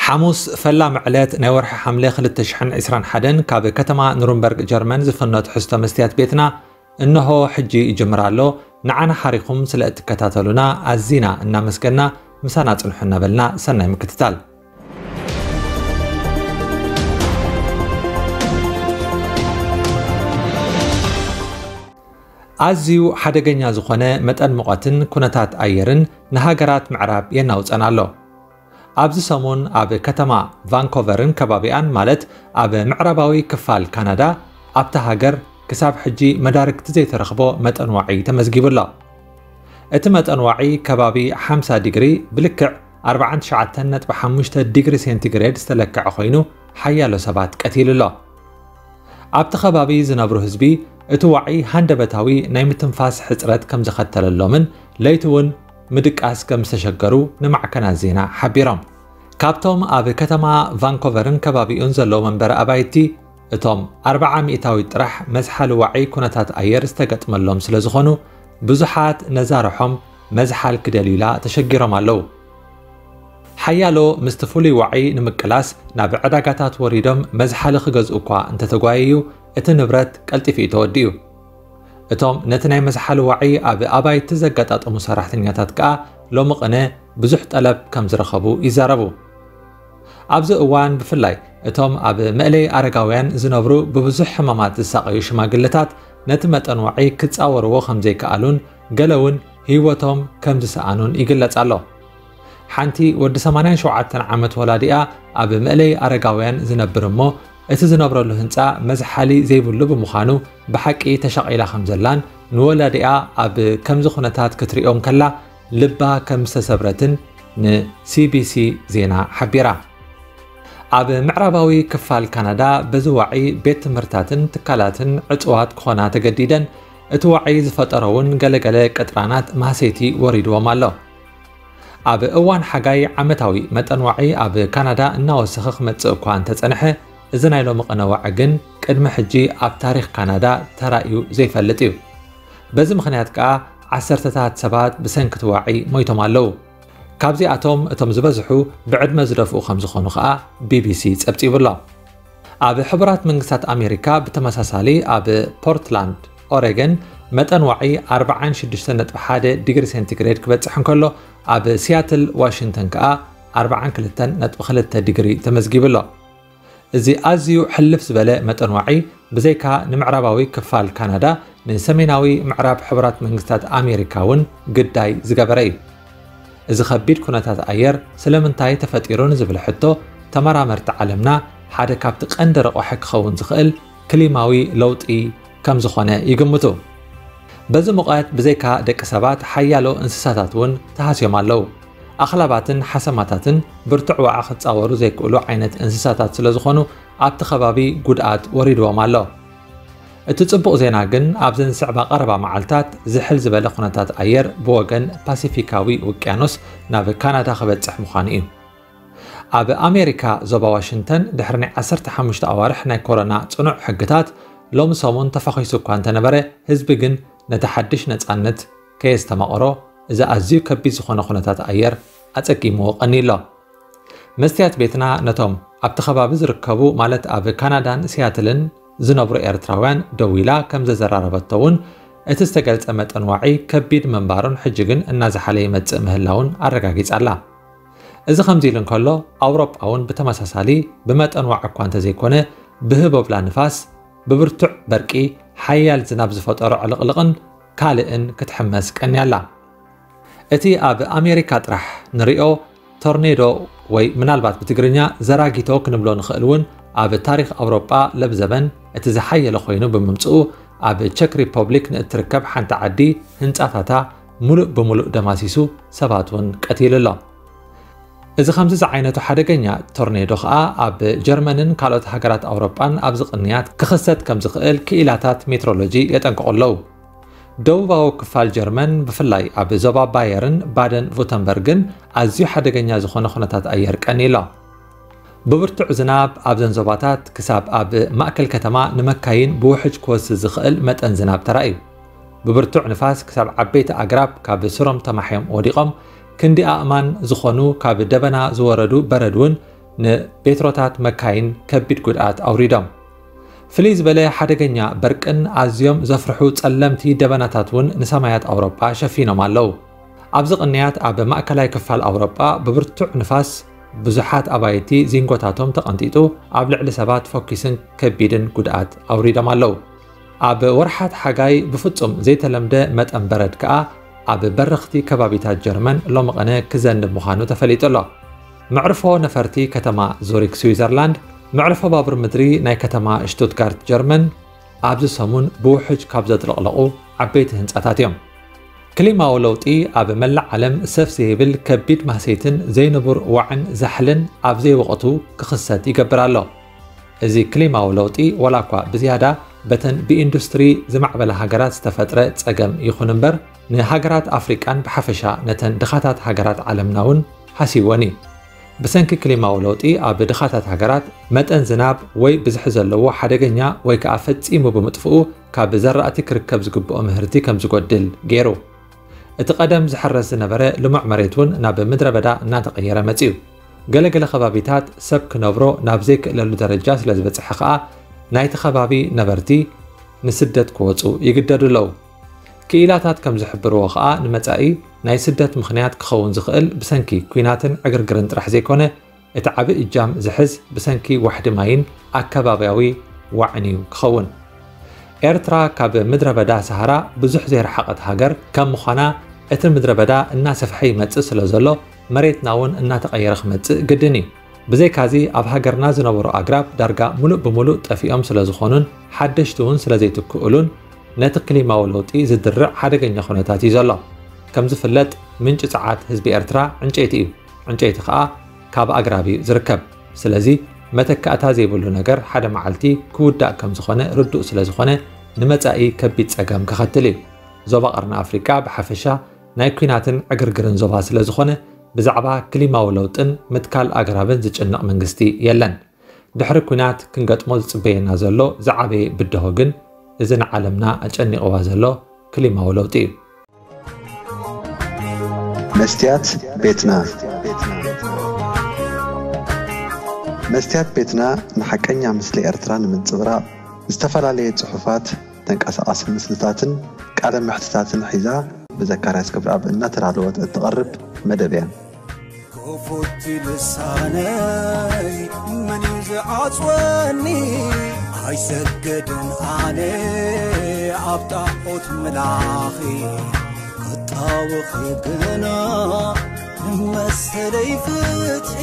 ሓሙስ ፈላሚ ዕለት ናይ ወርሒ ሓምለ ክልተ ሽሕን ዕስራን ሓደን ካብ ከተማ ኑርንበርግ ጀርመን ዝፍኖ ትሕዝቶ መስትያት ቤትና እንሆ ሕጂ ይጅምር ኣሎ። ንዓና ሓሪኹም ስለ እትከታተሉና ኣዚና እናመስገና ምሳና ጽንሑ እናበልና ሰናይ ምክትታል። ኣዝዩ ሓደገኛ ዝኾነ መጠን ሙቐትን ኩነታት ኣየርን ንሃገራት ምዕራብ የናውጸን ኣሎ። ኣብዚ ሰሙን ኣብ ከተማ ቫንኮቨርን ከባቢኣን፣ ማለት ኣብ ምዕራባዊ ክፋል ካናዳ፣ ኣብታ ሃገር ክሳብ ሕጂ መዳርግቲ ዘይተረኽቦ መጠን ዋዒ ተመዝጊቡ ኣሎ። እቲ መጠን ዋዒ ከባቢ ሓምሳ ዲግሪ፣ ብልክዕ ኣርባዓን ትሽዓተን ነጥቢ ሓሙሽተ ዲግሪ ሴንቲግሬድ ዝተለክዐ ኮይኑ፣ ሓያሎ ሰባት ቀቲሉ ኣሎ። ኣብቲ ከባቢ ዝነብሩ ህዝቢ፣ እቲ ዋዒ ሃንደበታዊ ናይ ምትንፋስ ሕጽረት ከም ዘኸተለሎምን ለይቲ እውን ምድቃስ ከም ዝተሸገሩ ንማዕከናት ዜና ሓቢሮም። ካብቶም ኣብ ከተማ ቫንኮቨርን ከባቢኡን ዘለዉ መንበሪ ኣባይቲ፣ እቶም ኣርብዓ ሚእታዊት ጥራሕ መዝሓሊ ዋዒ ኩነታት ኣየር ዝተገጥመሎም ስለ ዝኾኑ፣ ብዙሓት ነዛ ርሖም መዝሓል ክደልዩላ ተሸጊሮም ኣለዉ። ሓያሎ ምስቲ ፍሉይ ዋዒ ንምቅላስ ናብ ዕዳጋታት ወሪዶም መዝሓሊ ክገዝኡ እኳ እንተተጓየዩ፣ እቲ ንብረት ቀልጢፉ እዩ ተወዲኡ። እቶም ነቲ ናይ መዝሓሊ ዋዒ ኣብ ኣባይቲ ዘጋጣጠሙ ሰራሕተኛታት ከኣ ሎሚ ቅነ ብዙሕ ጠለብ ከም ዝረኸቡ ይዛረቡ። ኣብዚ እዋን ብፍላይ እቶም ኣብ መእለይ ኣረጋውያን ዝነብሩ ብብዙሕ ሕማማት ዝሳቐዩ ሽማግለታት ነቲ መጠን ዋዒ ክጻወርዎ ከም ዘይከኣሉን ገለ እውን ህይወቶም ከም ዝሰኣኑን ይግለጽ ኣሎ። ሓንቲ ወዲ ሰማንያን ሸውዓተን ዓመት ወላዲኣ ኣብ መእለይ ኣረጋውያን ዝነብር እሞ እቲ ዝነብረሉ ህንጻ መዝሓሊ ዘይብሉ ብምዃኑ ብሓቂ ተሻቒላ ከም ዘላን ንወላዲኣ ኣብ ከምዚ ኩነታት ክትሪኦ እንከላ ልባ ከም ዝተሰብረትን ንሲቢሲ ዜና ሓቢራ። ኣብ ምዕራባዊ ክፋል ካናዳ በዚ ዋዒ ቤት ትምህርታትን ትካላትን ዕጹዋት ክኾና ተገዲደን፣ እቲ ዋዒ ዝፈጠሮ እውን ገለገለ ቅጥራናት ማህሰይቲ ወሪድዎም ኣሎ። ኣብ እዋን ሓጋይ ዓመታዊ መጠን ዋዒ ኣብ ካናዳ እናወሰኸ ክመጽእ እኳ እንተጸንሐ፣ እዚ ናይ ሎሚ ቅነ ዋዒ ግን ቅድሚ ሕጂ ኣብ ታሪኽ ካናዳ ተራእዩ ዘይፈልጥ እዩ። በዚ ምኽንያት ከኣ ዓሰርተታት ሰባት ብሰንኪ እቲ ዋዒ ሞይቶም ኣለዉ። ካብዚኣቶም እቶም ዝበዝሑ ብዕድመ ዝደፍኡ ከም ዝኾኑ ከኣ ቢቢሲ ጸብጺቡ ኣሎ። ኣብ ሕቡራት መንግስታት ኣሜሪካ ብተመሳሳሊ ኣብ ፖርትላንድ ኦሬገን መጠን ዋዒ ኣርብዓን ሽዱሽተን ነጥቢ ሓደ ዲግሪ ሴንቲግሬድ ክበጽሕ እንከሎ፣ ኣብ ሲያትል ዋሽንግተን ከኣ ኣርብዓን ክልተን ነጥቢ ክልተ ዲግሪ ተመዝጊቡ ኣሎ። እዚ ኣዝዩ ሕልፍ ዝበለ መጠን ዋዒ ብዘይካ ንምዕራባዊ ክፋል ካናዳ፣ ንሰሜናዊ ምዕራብ ሕቡራት መንግስታት ኣሜሪካ እውን ግዳይ ዝገበረ እዩ። እዚ ከቢድ ኩነታት ኣየር ስለምንታይ ተፈጢሩ ንዝብል ሕቶ፣ ተመራመርቲ ዓለምና ሓደ ካብቲ ቀንዲ ረቋሒ ክኸውን ዝኽእል ክሊማዊ ለውጢ ከም ዝኾነ ይግምቱ። በዚ ሙቐት ብዘይካ ደቂ ሰባት ሓያሎ እንስሳታት እውን ተሃስዮም ኣለዉ። ኣኽላባትን ሓሰማታትን ብርቱዕ ዋዒ ክጻወሩ ዘይክእሉ ዓይነት እንስሳታት ስለ ዝኾኑ ኣብቲ ከባቢ ጉድኣት ወሪድዎም ኣሎ። እቲ ጽቡቕ ዜና ግን ኣብዘን ዝስዕባ ቀረባ መዓልታት ዝሕል ዝበለ ኩነታት ኣየር ብወገን ፓሲፊካዊ ውቅያኖስ ናብ ካናዳ ክበጽሕ ምዃኑ እዩ። ኣብ ኣሜሪካ ዞባ ዋሽንግተን ድሕሪ ናይ ዓሰርተ ሓሙሽተ ኣዋርሕ ናይ ኮሮና ጽኑዕ ሕግታት ሎሚ ሰሙን ተፋኺሱ እኳ እንተነበረ፣ ህዝቢ ግን ነቲ ሓድሽ ነጻነት ከየስተማቐሮ፣ እዚ ኣዝዩ ከቢድ ዝኾነ ኩነታት ኣየር ኣጸጊምዎ ቀንዩ ኣሎ። መስትያት ቤትና ነቶም ኣብቲ ከባቢ ዝርከቡ፣ ማለት ኣብ ካናዳን ሲያትልን ዝነብሩ ኤርትራውያን ደዊላ ከም ዘዘራረበቶ እውን፣ እቲ ዝተገልጸ መጠን ዋዒ ከቢድ ምንባሩን ሕጂ ግን እናዝሓለ ይመጽእ ምህላውን ኣረጋጊጻ ኣላ። እዚ ከምዚ ኢሉ እንከሎ፣ ኣውሮጳ እውን ብተመሳሳሊ ብመጠን ዋዒ እኳ እንተዘይኮነ፣ ብህቦብላ ንፋስ፣ ብብርቱዕ በርቂ፣ ሓያል ዝናብ ዝፈጠሮ ዕልቕልቕን ካልእን ክትሕመስ ቀንያ ኣላ። እቲ ኣብ ኣሜሪካ ጥራሕ ንሪኦ ቶርኔዶ ወይ ምናልባት ብትግርኛ ዘራጊቶ ክንብሎ ንኽእል እውን ኣብ ታሪኽ ኣውሮጳ ለብዘበን እቲ ዝሓየለ ኮይኑ ብምምጽኡ ኣብ ቸክ ሪፐብሊክ ንእትርከብ ሓንቲ ዓዲ ህንጻታታ ሙሉእ ብሙሉእ ደማሲሱ ሰባት እውን ቀቲሉ ኣሎ። እዚ ከምዚ ዝዓይነቱ ሓደገኛ ቶርኔዶ ኸኣ ኣብ ጀርመንን ካልኦት ሃገራት ኣውሮጳን ኣብዚ ቅንያት ክኽሰት ከም ዝኽእል ክኢላታት ሜትሮሎጂ የጠንቅቑ ኣለዉ። ደቡባዊ ክፋል ጀርመን ብፍላይ ኣብ ዞባ ባየርን ባደን ቩተንበርግን ኣዝዩ ሓደገኛ ዝኾነ ኩነታት ኣየር ቀንዩ ኣሎ። ብብርቱዕ ዝናብ ኣብዘን ዞባታት ክሳብ ኣብ ማእከል ከተማ ንመካይን ብውሕጅ ክወስድ ዝኽእል መጠን ዝናብ ተራእዩ። ብብርቱዕ ንፋስ ክሳብ ዓበይቲ ኣግራብ ካብ ስሮም ተማሕዮም ወዲቖም፣ ክንዲ ኣእማን ዝኾኑ ካብ ደበና ዝወረዱ በረድ እውን ንቤትሮታት መካይን ከቢድ ጉድኣት ኣውሪዶም። ፍልይ ዝበለ ሓደገኛ በርቅን ኣዝዮም ዘፍርሑ ጸለምቲ ደበናታት እውን ንሰማያት ኣውሮጳ ሸፊኖም ኣለዉ። ኣብዚ ቅንያት ኣብ ማእከላይ ክፋል ኣውሮጳ ብብርቱዕ ንፋስ ብዙሓት ኣባይቲ ዚንጎታቶም ተቐንጢጡ ኣብ ልዕሊ ሰባት ፈኲስን ከቢድን ጉድኣት ኣውሪዶም ኣለዉ። ኣብ ወርሓት ሓጋይ ብፍጹም ዘይተለምደ መጠን በረድ ከኣ ኣብ በረኽቲ ከባቢታት ጀርመን ሎሚ ቅነ ክዘንብ ምዃኑ ተፈሊጡ ኣሎ። መዕርፎ ነፈርቲ ከተማ ዙሪክ ስዊዘርላንድ፣ መዕርፎ ባቡር ምድሪ ናይ ከተማ ሽቱትጋርት ጀርመን ኣብዚ ሰሙን ብውሕጅ ካብ ዘጥለቕለቑ ዓበይቲ ህንጻታት እዮም። ክሊማዊ ለውጢ ኣብ መላእ ዓለም ሰፍ ዘይብል ከቢድ ማህሰይትን ዘይንቡር ዋዕን ዛሕልን ኣብ ዘይወቕቱ ክኽሰት ይገብር ኣሎ። እዚ ክሊማዊ ለውጢ ዋላ እኳ ብዝያዳ በተን ብኢንዱስትሪ ዝማዕበላ ሃገራት ዝተፈጥረ ጸገም ይኹን እምበር፣ ንሃገራት ኣፍሪቃን ብሓፈሻ ነተን ድኻታት ሃገራት ዓለምና እውን ሃሲወን እዩ። ብሰንኪ ክሊማዊ ለውጢ ኣብ ድኻታት ሃገራት መጠን ዝናብ ወይ ብዝሒ ዘለዎ ሓደገኛ ወይ ከኣ ፈጺሙ ብምጥፍኡ ካብ ዘራእቲ ክርከብ ዝግብኦ ምህርቲ ከም ዝጎድል ገይሩ። እቲ ቀደም ዝሕረስ ዝነበረ ልሙዕ መሬት እውን ናብ ምድረ በዳ እናተቐየረ መጺኡ። ገለገለ ከባቢታት ሰብ ክነብሮ ናብ ዘይክእለሉ ደረጃ ስለ ዝበጽሐ ከኣ ናይቲ ከባቢ ነበርቲ ንስደት ክወጹ ይግደዱ ኣለዉ። ክኢላታት ከም ዝሕብርዎ ከኣ ንመጻኢ ናይ ስደት ምኽንያት ክኸውን ዝኽእል ብሰንኪ ኲናትን ዕግርግርን ጥራሕ ዘይኮነ እቲ ዓቢ እጃም ዝሕዝ ብሰንኪ ዋሕዲ ማይን ኣከባብያዊ ዋዕን እዩ ክኸውን። ኤርትራ ካብ ምድረ በዳ ሰሃራ ብዙሕ ዘይረሓቐት ሃገር ከም ምዃና እቲ ምድረ በዳ እናሰፍሐ ይመጽእ ስለ ዘሎ መሬትና እውን እናተቐየረ ክመጽእ ግድን እዩ። ብዘይካዚ ኣብ ሃገርና ዝነበሩ ኣግራብ ዳርጋ ሙሉእ ብሙሉእ ጠፊኦም ስለ ዝኾኑን ሓደሽቲ እውን ስለ ዘይትክእሉን ነቲ ክሊማዊ ለውጢ ዝድርዕ ሓደገኛ ኩነታት እዩ ዘሎ። ከም ዝፍለጥ ምንጪ ጸዓት ህዝቢ ኤርትራ ዕንጨይቲ እዩ። ዕንጨይቲ ከኣ ካብ ኣግራብ እዩ ዝርከብ። ስለዚ መተካእታ ዘይብሉ ነገር ሓደ መዓልቲ ክውዳእ ከም ዝኾነ ርዱእ ስለ ዝኾነ ንመጻኢ ከቢድ ጸገም ከኸትል እዩ። ዞባ ቀርኒ ኣፍሪቃ ብሓፈሻ ናይ ኲናትን ዕግርግርን ዞባ ስለ ዝኾነ ብዛዕባ ክሊማዊ ለውጥን ምትካል ኣግራብን ዝጭነቕ መንግስቲ የለን። ድሕሪ ኲናት ክንገጥሞ ዝጽበየና ዘሎ ዝዓበየ ብድሆ ግን እዚ ንዓለምና ኣጨኒቕዋ ዘሎ ክሊማዊ ለውጢ እዩ። መስትያት ቤትና መስትያት ቤትና ንሓቀኛ ምስሊ ኤርትራ ንምንጽብራቕ ዝተፈላለየ ጽሑፋት፣ ተንቀሳቓሲ ምስልታትን ቃለ መሕትታትን ሒዛ ብዘካርያስ ክብረኣብ እናተዳለወት እትቐርብ መደብ እያ። ክፉት ልሳነይ መን እዩ ዝዓጽወኒ? ኣይሰገድን ኣነ ኣብ ጣዖት ምላኺ ክጣወኺ ግና ንመሰለይ ፍትሒ